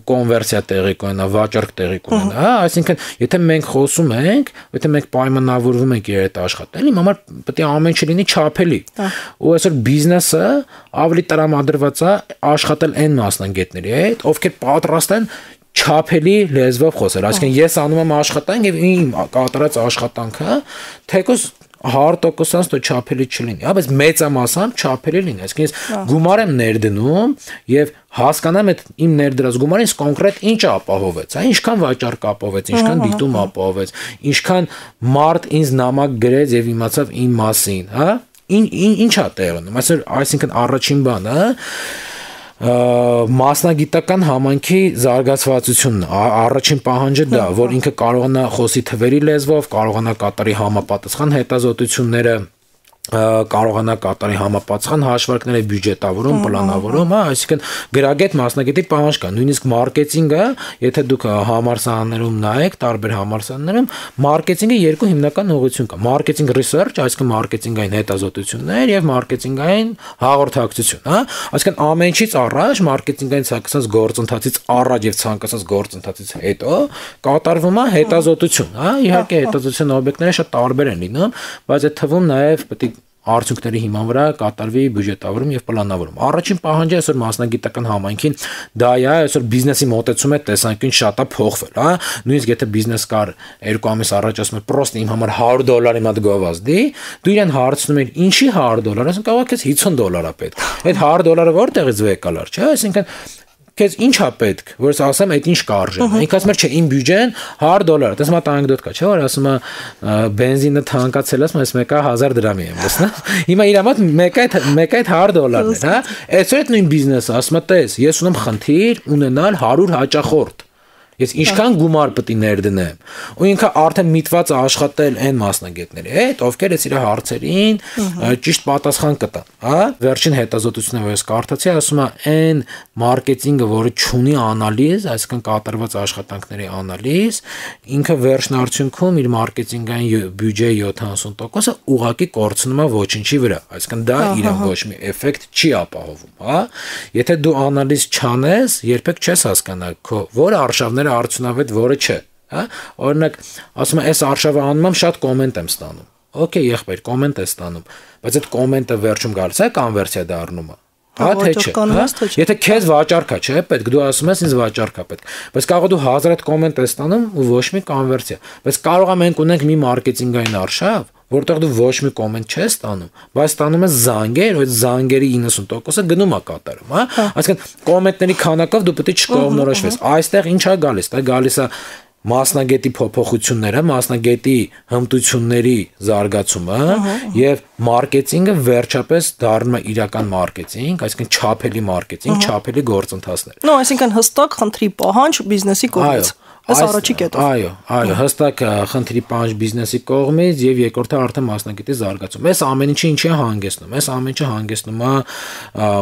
կոնվերսիա տեղի կունենա, վաճառք տեղի կունենա, հա, այսինքն եթե մենք խոսում ենք, եթե մենք պայմանավորվում ենք իր հետ աշխատել, իմ համար պետք է ամեն ինչ լինի չափելի։ Ու այսօր բիզնեսը ավելի տրամադրված է աշխատել այն մասնագետների հետ, ովքեր պատրաստ են չափելի լեզվով խոսել, այսինքն ես անում եմ աշխատանք եւ իմ կատարած աշխատանքը թեկուզ 100% դու չափելի չլինի, հա, բայց մեծամասամբ չափելի լինի, այսինքն ես գումար եմ ներդնում եւ հասկանամ այդ իմ ներդրած գումարը ինձ կոնկրետ ինչ ապահովեց, հա, ինչքան վաճառք ապահովեց, ինչքան դիտում ապահովեց, ինչքան մարդ ինձ նամակ գրեց եւ իմացավ իմ մասին, հա, ինչա տեղ ունում, այսինքն առաջին բանը, մասնագիտական համայնքի զարգացվածությունն առաջին պահանջը դա, որ ինքը կարողանա խոսի թվերի լեզվով, կարողանա կատարի համապատասխան հետազոտությունները, կարողանա կատարի համապատասխան հաշվարկները, բյուջետավորում, պլանավորում, հա, այսինքն գրագետ մասնագետի պահանջ կա, նույնիսկ մարքեթինգը, եթե դուք համալսարաններում նայեք, տարբեր համալսարաններում, մարքեթինգը երկու հիմնական ուղղություն կա, մարքեթինգ ռիսերչ, այսինքն մարքեթինգային հետազոտություններ եւ մարքեթինգային հաղորդակցություն, հա, այսինքն ամեն ինչից առաջ մարքեթինգային ցանկացած գործընթացից առաջ եւ ցանկացած գործընթացից հետո կատարվում է հետազոտություն, հա, իհարկե հետազոտության օբյեկտները շատ տարբեր են լինում, բայց այդ թվում նաեւ պետք է արդյունքների հիման վրա կատարվի բյուջետավորում եւ պլանավորում։ Առաջին պահանջը այսօր մասնագիտական համայնքին դա է, այսօր բիզնեսի մոտեցում է տեսանկյուն շատ է փոխվել, հա։ Նույնիսկ եթե բիզնես կար 2 ամիս առաջ ասում է պրոստ իմ համար $100 մատ գովազդի, դու իրեն հարցնում ես ինչի $100, ասում կարող ես $50 է պետք։ Այդ $100 որտեղից վեկալար, չէ՞, այսինքն քեզ ինչ է պետք, որ ես ասեմ այդ ինչ կարժե։ Ինք ասում է չէ, իմ բյուջեն $100, դες մա անեկդոտ կա, չէ՞, որ ասում է բենզինը թանկացել ասում ես մեկը 1000 դրամի եմ, լսնա։ Հիմա իր մոտ մեկը այդ $100-ն է, հա։ Այսօր այդ նույն բիզնեսը ասում է տես, ես ունեմ խնդիր ունենալ 100 հաճախորդ։ Ես ինչքան գումար պետք է ներդնեմ։ Ու ինքը արդեն միտված է աշխատել այն մասնագետների հետ, ովքեր այս իր հարցերին ճիշտ պատասխան կտան, հա։ Վերջին հետազոտությունը, որ ես կարդացի, ասում է այն մարքեթինգը, որը չունի անալիզ, այսինքն կատարված աշխատանքների անալիզ, ինքը վերջնարդյունքում իր մարքեթինգային բյուջեի 70%-ը ուղղակի կորցնում է ոչինչի վրա, այսինքն դա իրեն ոչ մի էֆեկտ չի ապահովում, հա։ Եթե դու անալիզ չանես, երբեք չես հասկանա քո որ արժավները արդյունավետ որը չէ, հա, օրինակ ասում եմ այս արշավը անում եմ շատ կոմենտ եմ ստանում, օքեյ եղբայր կոմենտ է ստանում, բայց այդ կոմենտը վերջում գալիս է կոնվերսիա դառնում է, հա, թե չէ, եթե քեզ վաճառք է, չէ, պետք դու ասում ես ինձ վաճառք է պետք, բայց կարող դու 1000 կոմենտ ես ստանում ու ոչ մի կոնվերսիա, բայց կարող է մենք ունենք մի մարքեթինգային արշավ, որտեղ դու ոչ մի կոմենտ չես ստանում, բայց ստանում ես զանգեր, ու այդ զանգերի 90%-ը գնում է կատարում, հա, այսինքն կոմենտների քանակով դու պետք է չկողմնորոշվես, այստեղ ինչ է գալիս, դա գալիս է մասնագետի փոփոխությունները, մասնագետի հմտությունների զարգացումը եւ մարքեթինգը վերջապես դառնում է իրական մարքեթինգ, այսինքն չափելի մարքեթինգ, չափելի գործընթացներ։ No, այսինքն հստակ խնդրի պահանջ բիզնեսի կողմից։ Այս առաջի կետով։ Այո, հստակ խնդրի պահանջ բիզնեսի կողմից եւ երկրորդը արդեն մասնագետի զարգացում։ Այս ամեն ինչը ինչի է հանգեցնում։ Այս ամեն ինչը հանգեցնում է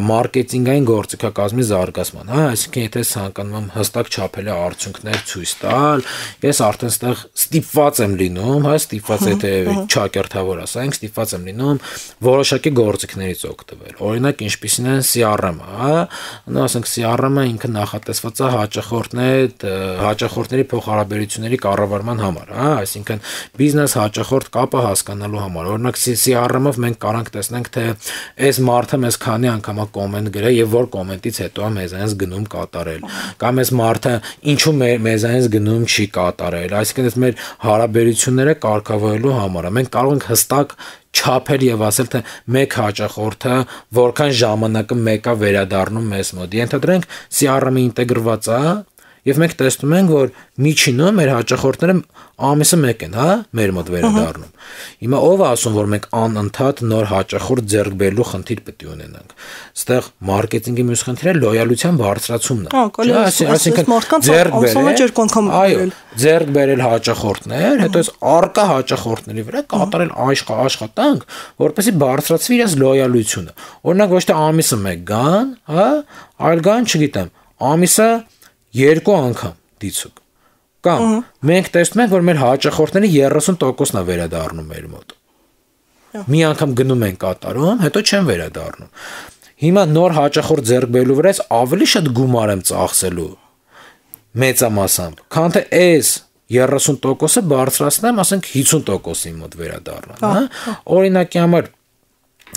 մարքեթինգային գործիքակազմի զարգացման, հա, այսինքն եթե ցանկանում եմ հստակ չափելի արդյունքներ ցույց տալ, ես արդեն այստեղ ստիպված եմ լինում, հա, ստիպված եթե ճակերտավոր ասենք, ստիպված եմ լինում որոշակի գործիքներից օգտվել։ Օրինակ ինչպիսին է CRM-ը, հա, նո ասենք CRM-ը ինքը նախատեսված է հաճախորդների փոխհարաբերությունների կառավարման համար, հա, այսինքն բիզնես հաճախորդ կապը հասկանալու համար։ Օրինակ CRM-ով մենք կարող տեսնենք թե այս մարդը մեզ քանի անգամ է կոմենտ գրել եւ որ կոմենտից հետո է մեզանից գնում կատարել, կամ այս մարդը ինչու մեզանից գնում չի կատարել, այսինքն այս մեր հարաբերությունները կարգավորելու համար մենք կարող ենք հստակ չափել եւ ասել թե մեկ հաճախորդը որքան ժամանակը մեկա վերադառնում մեզ մոտ։ Ենթադրենք CRM-ը ինտեգրված է եւ մենք տեսնում ենք, որ միջինում մեր հաճախորդները ամիսը մեկ են, հա, մեր մոտ վերադառնում։ Հիմա ով է ասում, որ մենք անընդհատ նոր հաճախորդ ձեռք բերելու խնդիր պետք է ունենանք։ Այստեղ մարքեթինգի մյուս խնդիրը լոյալության բարձրացումն է։ Այսինքն ձեռք բերել հաճախորդներ, հետո այս արկա հաճախորդների վրա կատարել աշխատանք, որպեսզի բարձրացվի իրենց լոյալությունը։ Օրինակ ոչ թե ամիսը մեկ գան, հա, այլ գան, չգիտեմ, ամիսը 2 անգամ դիցուկ։ Կամ մենք տեսնում ենք, որ մեր հաճախորդների 30%-ն է վերադառնում մեր մոտ։ Մի անգամ գնում են կատարում, հետո չեն վերադառնում։ Հիմա նոր հաճախորդ ձեռք բերելու վրա ավելի շատ գումար եմ ծախսելու մեծամասամբ, քան թե այս 30%-ը բարձրացնեմ, ասենք 50%-ի մոտ վերադառնամ, հա։ Օրինակի համար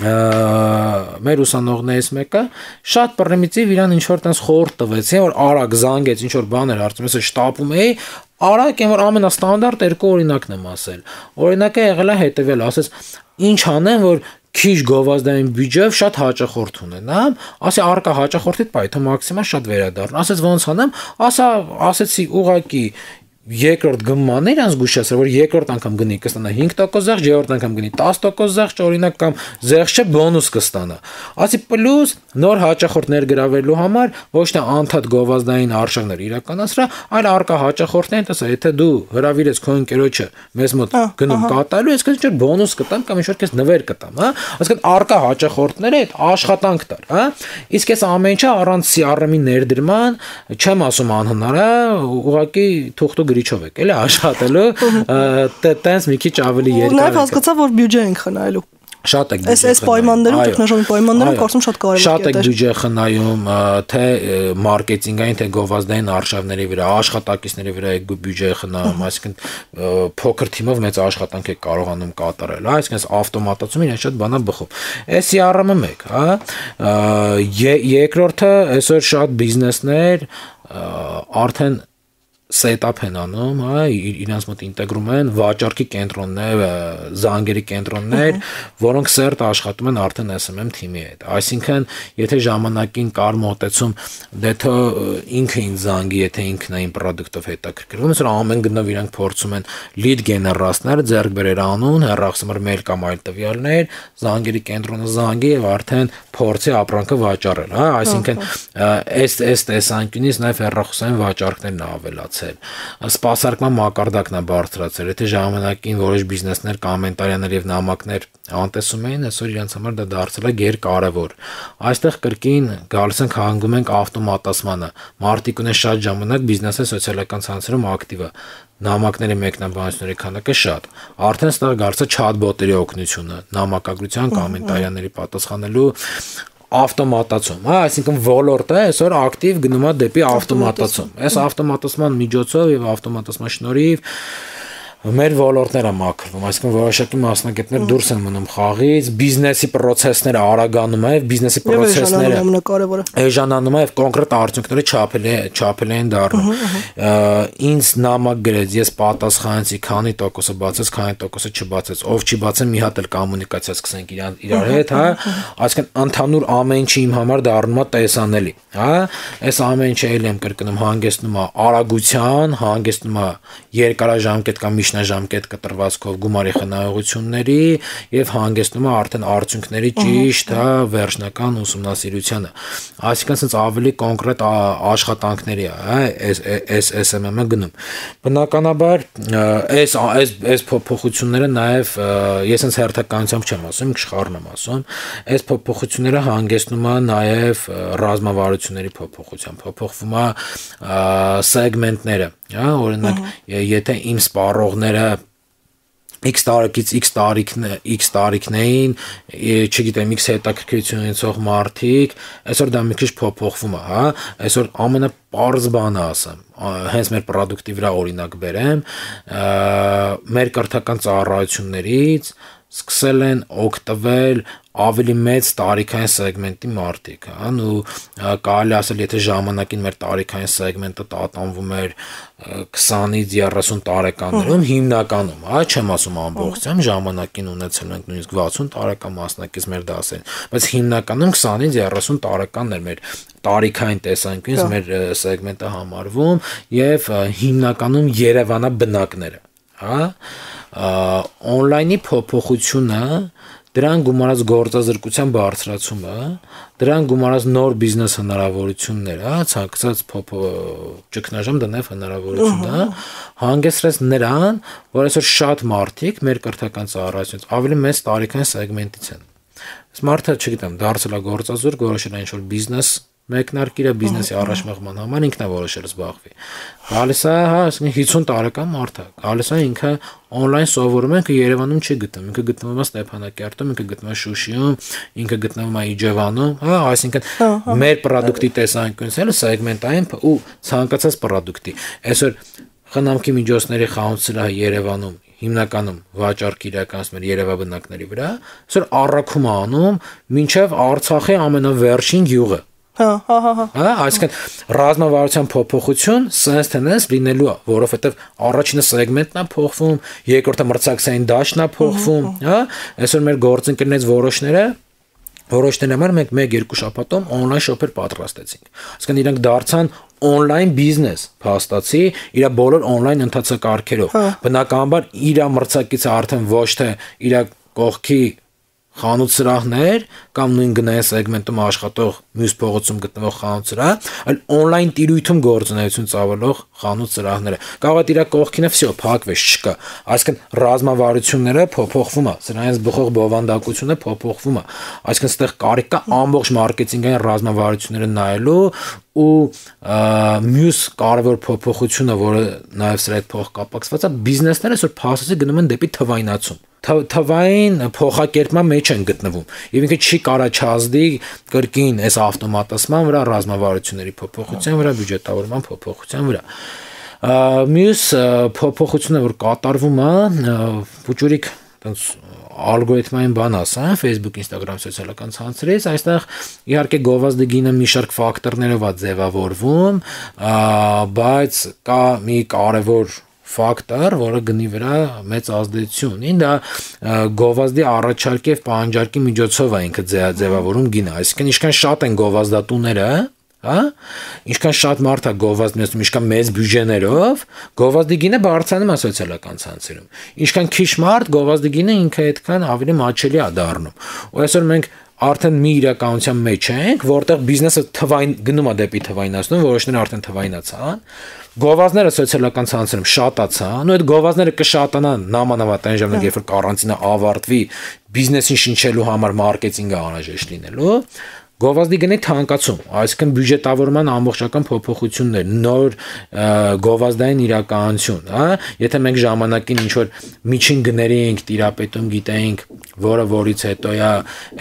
մեր ուսանողներից մեկը շատ պրիմիտիվ իրան ինչ որ տես խորտ տվեցին, որ արագ զանգեց, ինչ որ բաներ հարցում, ես շտապում էի, արագ եմ որ ամենաստանդարտ երկու օրինակն եմ ասել։ Օրինակը եղել է հետևյալ, ասես ինչ անեմ, որ քիչ գովազդային բյուջեով շատ հաճախորդ ունենամ, ասի արկա հաճախորդիդ պայթո մաքսիմալ շատ վերադառն, ասես ոնց անեմ, ասեցի ուղակի երկրորդ գումարն իրանց զգուշացրել, որ երկրորդ անգամ գնի կստանա 5% զեղչ, երրորդ անգամ գնի 10% զեղչ, օրինակ կամ զեղչ չէ բոնուս կստանա։ Ասի պլյուս նոր հաճախորդ ներգրավելու համար ոչ թե անդադ գովազդային արժեքներ իրականացրա, այլ արկա հաճախորդներին տեսա, եթե դու հրավիրես քո ընկերոջը մեզ մոտ գնում կատարելու, ես քեզ բոնուս կտամ կամ ինչ-որ քեզ նվեր կտամ, հա։ Այսինքն արկա հաճախորդները այդ աշխատանք տար, հա։ Իսկ այս ամեն ինչը առանց CRM-ի ներդրման չեմ ասում անհնար է, ուղղակի թուղթու գրիչով եք, էլի աշխատելու, տենց մի քիչ ավելի երկար է։ Նաև հասկացա, որ բյուջե ենք խնայելու։ Շատ եք այս պայմաններում, տեխնոլոգիական պայմաններում կարծում շատ կարևոր է։ Շատ եք բյուջե խնայում, թե մարքեթինգային, թե գովազդային արժևների վրա, աշխատակիցների վրա եք բյուջե խնայում, այսինքն փոքր թիմով մեծ աշխատանք եք կարողանում կատարել, հա, այսինքն ավտոմատացումը իրեն շատ բանա բխում։ Այս CRM-ը մեկ, հա, երկրորդը այսօր շատ բիզնեսներ արդեն set-up են անում, հա, իրանց մոտ ինտեգրում են վաճառքի կենտրոններ, զանգերի կենտրոններ, որոնք սերտ աշխատում են արդեն SMM թիմի հետ։ Այսինքն, եթե ժամանակին կար մոտեցում, դե թե ինքը ինձ զանգի, եթե ինքն է իմ product-ով հետաքրքրվում, այսօր ամեն գնով իրանք փորձում են lead generate-ներ, ձեռք բերել անուն, հեռախոսնumber mail կամ այլ տվյալներ, զանգերի կենտրոնը զանգի եւ արդեն փորձի ապրանքը վաճառել, հա, այսինքն այս տեսանկյունից նաեւ հեռախոսային վաճառքներն ավելացել սպասարկման մակարդակն է բարձրացել, եթե ժամանակին որոշ բիզնեսներ կոմենտարիաներ եւ նամակներ անտեսում էին, այսօր իրենց համար դա դարձել է գերկարևոր։ Այստեղ կրկին գալիս ենք հանգում ենք ավտոմատացմանը։ Մարդիկ ունեն շատ ժամանակ բիզնեսի սոցիալական ցանցերում ակտիվ է։ Նամակների մեկնաբանությունների քանակը շատ։ Արդեն ստեղ գալիս է չաթ-բոտերի օգնությունը, նամակագրության, կոմենտարիաների պատասխանելու ավտոմատացում, հա, այսինքն ոլորտը այսօր ակտիվ գնում է դեպի ավտոմատացում։ Այս ավտոմատացման միջոցով եւ ավտոմատացման շնորհիվ մեր ոլորտները մաքրվում, այսինքն որոշակի մասնագետներ դուրս են մնում խաղից, բիզնեսի process-ները արագանում է, բիզնեսի process-ները էժանանում է եւ կոնկրետ արդյունքները չափելի են դառնում։ Ինձ նամակ գրեց, ես պատասխանեցի, քանի տոկոսը բացեց, քանի տոկոսը չբացեց, ով չի բացել մի հատ էլ կոմունիկացիա սկսենք իրար հետ, հա, այսինքն ընդհանուր ամեն ինչը իմ համար դառնում է տեսանելի, հա, այս ամեն ինչը էլ եմ կրկնում հանգեցնում է արագության, հանգեցնում է երկարաժամկետ կամ միջնաժամկետ կտրվածքով գումարի խնայողությունների եւ հանգեցնում է արդեն արդյունքների ճիշտ, վերջնական ուսումնասիրությանը։ Այսինքն ասած ավելի կոնկրետ աշխատանքների է այս SMM-ը գնում։ Բնականաբար այս փոփոխությունները նաեւ ես հենց հերթականությամբ չեմ ասում, իշխառն եմ ասում, այս փոփոխությունները հանգեցնում է նաեւ ռազմավարությունների փոփոխության, փոփոխվում է սեգմենտները, օրինակ, եթե իմ սպառողները X տարեկից X տարիքներին, չգիտեմ, X հետաքրքրություն ունեցող մարդիկ, այսօր դա մի քիչ փոփոխվում է, հա, այսօր ամենապարզ բանը ասեմ, հենց մեր product-ի վրա օրինակ բերեմ, մեր կրթական ծառայություններից սկսել են օգտվել ավելի մեծ տարիքային սեգմենտի մարդիկ, հա, ու կարելի ասել, եթե ժամանակին մեր տարիքային սեգմենտը տատանվում էր 20-ից 30 տարեկաններում, հիմնականում, հա, չեմ ասում ամբողջությամբ, ժամանակին ունեցել ենք նույնիսկ 60 տարեկան մասնակից մեր դասերին, բայց հիմնականում 20-ից 30 տարեկաններ մեր տարիքային տեսանկյունից մեր սեգմենտը համարվում եւ հիմնականում Երևանա բնակները, հա, on-line-ի փոփոխությունը, դրան գումարած գործազրկության բարձրացումը, դրան գումարած նոր բիզնես հնարավորությունները, ցանկացած ճգնաժամ դա նաև հնարավորություն է, հանգեցրեց նրան, որ այսօր շատ մարդիկ մեր կրթական ծառայությունից ավելի մեծ տարիքային սեգմենտից են։ Այս մարդը, չգիտեմ, դարձել է գործազուրկ, որոշել է ինչ-որ բիզնես մեկնարկիր է բիզնեսի առաջմեղման համար ինքն է որոշել զբաղվի։ Գալիս է, հա, 50 տարեկան մարդ է, գալիս է ինքը on-line սովորում է, ինքը Երևանում չի գտնում, ինքը գտնվում է Ստեփանակերտում, ինքը գտնվում է Շուշիում, ինքը գտնվում է Իջևանում, հա, այսինքն մեր product-ի տեսանկյունից էլ սեգմենտային ու ցանկացած product-ի։ Այսօր խնամքի միջոցների խանութսրահը Երևանում հիմնականում վաճառք իրականացնում են երևաբնակների վրա, այսօր առաքում է անում մինչև Արցախի ամենավերջին գյուղը։ Հա, այսինքն ռազմավարության փոփոխություն sense tense լինելու է, որովհետև առաջինը սեգմենտն է փոխվում, երկրորդը մրցակցային դաշտն է փոխվում, հա, այսօր մեր գործընկերներից որոշները համար մենք 1-2 շաբաթում on-line shop-եր պատրաստեցինք։ Այսինքն իրանք դարձան on-line business, փաստացի իր բոլոր on-line ընթացակարգերով։ Բնականաբար իր մրցակիցը արդեն ոչ թե իր կողքի խանութ սրահներ կամ նույն գնային սեգմենտում աշխատող մյուս փողոցում գտնվող խանութ սրահ, այլ on-line տիրույթում գործունեություն ծավալող խանութ սրահները։ Կարող է իր կողքինը վсё փակվեց, չկա։ Այսինքն ռազմավարությունները փոփոխվում է, սրանից բխող բովանդակությունը փոփոխվում է։ Այսինքն այստեղ կարիք կա ամբողջ մարքեթինգային ռազմավարությունները նայելու ու մյուս կարևոր փոփոխությունը, որը նաև սրա հետ փոխկապակցված է, բիզնեսները այսօր փաստացի գնում են դեպի թվայնացում։ Թվային փոխակերպման մեջ են գտնվում եւ ինքը չի կարա չազդի կրկին այս ավտոմատացման վրա, ռազմավարությունների փոփոխության վրա, բյուջետավորման փոփոխության վրա։ Մյուս փոփոխությունը, որ կատարվում է, փոճուրիկ տենց ալգորիթմային բան ասա, Facebook, Instagram սոցիալական ցանցերից, այստեղ իհարկե գովազդի գինը մի շարք ֆակտորներով է ձևավորվում, բայց կա մի կարևոր ֆակտոր, որը գնի վրա մեծ ազդեցություն ունի, դա գովազդի առաջարկի եւ պահանջարկի միջոցով է ինքը ձևավորում գինը, այսինքն ինչքան շատ են գովազդատուները, հա, ինչքան շատ մարդ է գովազդում, ինչքան մեծ բյուջեներով, գովազդի գինը բարձրանում է սոցիալական ցանցերում։ Ինչքան քիչ մարդ գովազդի գինը ինքը այդքան ավելի մաչելի է դառնում։ Ու այսօր մենք արդեն մի իրականության մեջ ենք, որտեղ բիզնեսը գնում է դեպի թվայնացում, որոշները արդեն թվայնացան, գովազդները սոցիալական ցանցերում շատացան, ու այդ գովազդները կշատանան նամանավանդ այն ժամանակ, երբ որ կարանտինը ավարտվի, բիզնեսին շնչելու համար մարքեթինգը անհրաժեշտ լինելու, գովազդի գնի թանկացում, այսինքն բյուջետավորման ամբողջական փոփոխություններ, նոր գովազդային իրականություն, հա, եթե մենք ժամանակին ինչ որ միջին գների ենք տիրապետում գիտեինք, որից հետո է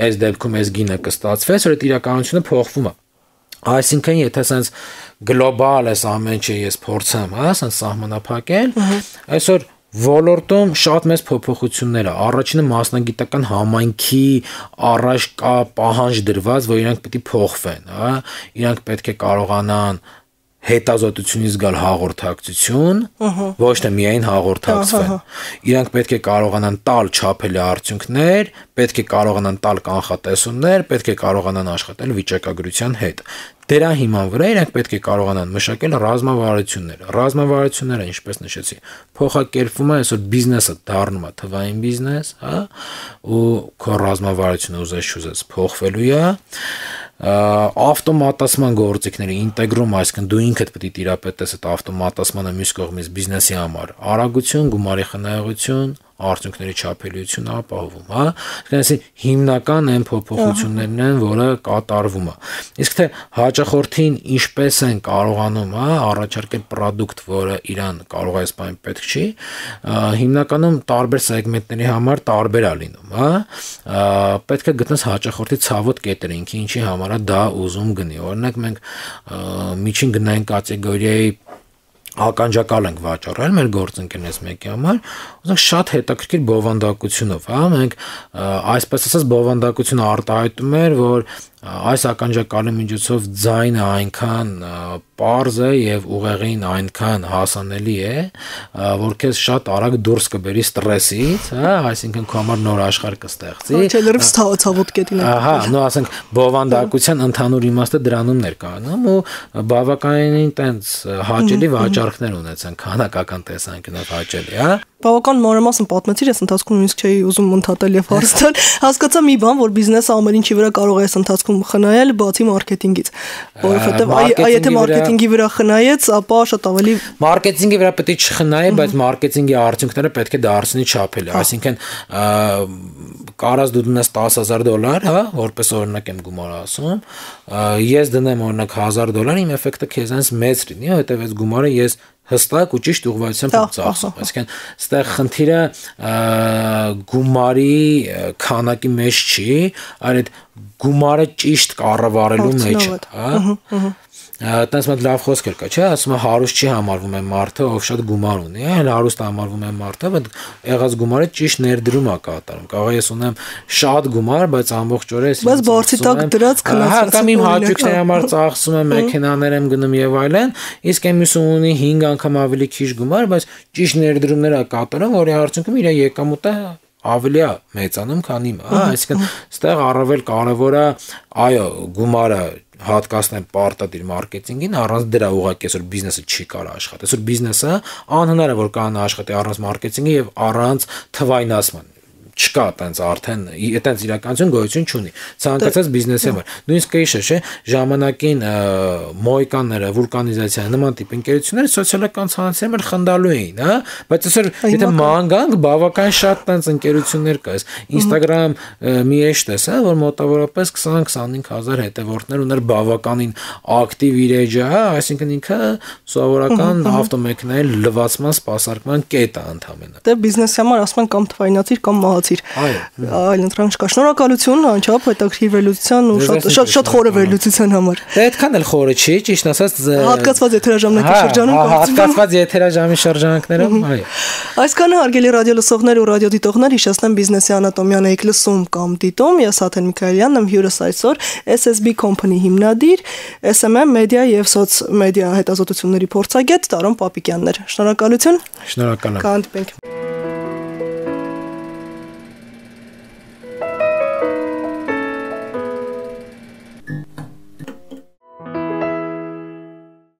այս դեպքում այս գինը կստացվի, որ այդ իրականությունը փոխվում է։ Այսինքն եթե sense գլոբալ այս ամեն ինչը ես փորձեմ, հա, sense սահմանափակել, այսօր ոլորտում շատ մեծ փոփոխություններ է։ Առաջինը մասնագիտական համայնքի առաջ կա պահանջ դրված, որ իրանք պետք է փոխվեն, հա, իրանք պետք է կարողանան հետազոտությունից գալ հաղորդակցություն, ոչ թե միայն հաղորդակցվեն։ Իրանք պետք է կարողանան տալ չափելի արդյունքներ, պետք է կարողանան տալ կանխատեսումներ, պետք է կարողանան աշխատել վիճակագրության հետ։ Դրա հիման վրա իրանք պետք է կարողանան մշակել ռազմավարություններ։ Ռազմավարությունները, ինչպես նշեցի, փոխակերպվում է, այսօր բիզնեսը դառնում է թվային բիզնես, հա, ու քո ռազմավարությունը ուզես փոխվելու է։ Ավտոմատացման գործիքների ինտեգրում, այսինքն դու ինքդ պետք է տիրապետես այդ ավտոմատացմանը մյուս կողմից բիզնեսի համար, արագություն, գումարի խնայողություն, արդյունքների չափելիություն ապահովում, հա, այսինքն հիմնական այն փոփոխություններն են, որը կատարվում է։ Իսկ թե հաճախորդին ինչպես են կարողանում, հա, առաջարկել product, որը իրան կարող է սպայն պետք չի, հիմնականում տարբեր սեգմենտների համար տարբեր է լինում, հա, պետք է գտնես հաճախորդի ցավոտ կետերը, ինքը ինչի համար է դա ուզում գնի։ Օրինակ մենք միջին գնային կատեգորիայի ականջակալ ենք վաճառել մեր գործընկերներից մեկի համար, ուզենք շատ հետաքրքիր բովանդակությունով, հա, մենք այսպես ասած բովանդակությունը արտահայտում էր, որ այս ականջակալի միջոցով ձայնը այնքան պարզ է եւ ուղեղին այնքան հասանելի է, որ քեզ շատ արագ դուրս կբերի ստրեսից, հա, այսինքն քո համար նոր աշխարհ կստեղծի։ Չէ, լրիվ ցավոտ կետին է։ Ահա, նո ասենք բովանդակության ընդհանուր իմաստը դրանում ներկայանում ու բավականին տենց հաճելի վաճառքներ ունեցան, քանակական տեսանկյունով հաճելի, հա։ Բավական մանրամասն պատմեցիր, ես ընթացքում նույնիսկ չէի ուզում ընդհատել եւ հարցնել։ Հասկացա մի բան, որ բիզնեսը ամեն ինչի վրա կարող է ընթացքում խնայել, բացի մարքեթինգից, որովհետեւ եթե մարքեթինգի վրա խնայեց, ապա շատ ավելի մարքեթինգի վրա պետք է չխնայի, բայց մարքեթինգի արդյունքները պետք է դարձնի չափելի, այսինքն կարած դու դնես $10,000, հա, որպես օրինակ եմ գումար ասում, ես դնեմ օրինակ $1,000, իմ էֆեկտը քեզանից մեծ լինի, հետեւ այս գումարը ես հստակ ու ճիշտ ուղղվածությամբ ծախսում, այսինքն այստեղ խնդիրը գումարի քանակի մեջ չի, այլ այդ գումարը ճիշտ կառավարելու մեջ է, հա։ Այդպես մի լավ խոսք կա, չէ՞, ասում է հարուստ չի համարվում է մարդը, ով շատ գումար ունի, այլ հարուստ համարվում է մարդը, բայց եղած գումարը ճիշտ ներդրում է կատարում։ Կարող է ես ունեմ շատ գումար, բայց ամբողջ օրը ես բայց բարձի տակ դրած քնած, կամ իմ հաճույքների համար ծախսում եմ, մեքենաներ եմ գնում եւ այլն, իսկ այն մյուսը ունի 5 անգամ ավելի քիչ գումար, բայց ճիշտ ներդրումներ է կատարում, որի արդյունքում իր եկամուտը ավելի է մեծանում, քան իմը, հա, այսինքն այստեղ առավել կարևոր է, այո, գումարը հատկացնել պարտադիր մարքեթինգին, առանց դրա ուղղակի այսօր բիզնեսը չի կարող աշխատել։ Այսօր բիզնեսը անհնար է որ կանա աշխատի առանց մարքեթինգի եւ առանց թվայնացման։ Չկա այտենց արդեն այտենց իրականություն գոյություն չունի ցանկացած բիզնեսի համար նույնիսկ կհիշես չէ ժամանակին մոյկանները վուլկանիզացիա նման տիպ ընկերությունները սոցիալական ցանցերում էլ խնդալու էին հա բայց այսօր եթե ման գանք բավական շատ այտենց ընկերություններ կա Instagram մի էջ տես հա որ մոտավորապես 20-25,000 հետևորդներ ուներ բավականին ակտիվ իր էջը հա այսինքն ինքը սովորական ավտոմեքենայի լվացման սպասարկման կետ է ընդհանրապես դե բիզնեսի համար ասում են կամ թվայնացիր կամ մահացիր այլ ընտրանք չկա շնորհակալություն անչափ հետաքրքիր վերլուծության ու շատ խորը վերլուծության համար դե այդքան էլ խորը չի ճիշտ ասած հատկացված եթերաժամանակի շրջանում հատկացված եթերաժամի շրջանակներում այո այսքանը հարգելի ռադիո լսողներ ու ռադիոդիտողներ հիշեցնեմ բիզնեսի անատոմիան եք լսում կամ դիտում ես Աթեն Միքայելյանն եմ հյուրս այսօր SSB Company հիմնադիր SMM մեդիա եւ սոցմեդիա հետազոտությունների փորձագետ Տարոն Պապիկյաններ շնորհակալություն շնորհակալ եմ կհանդիպենք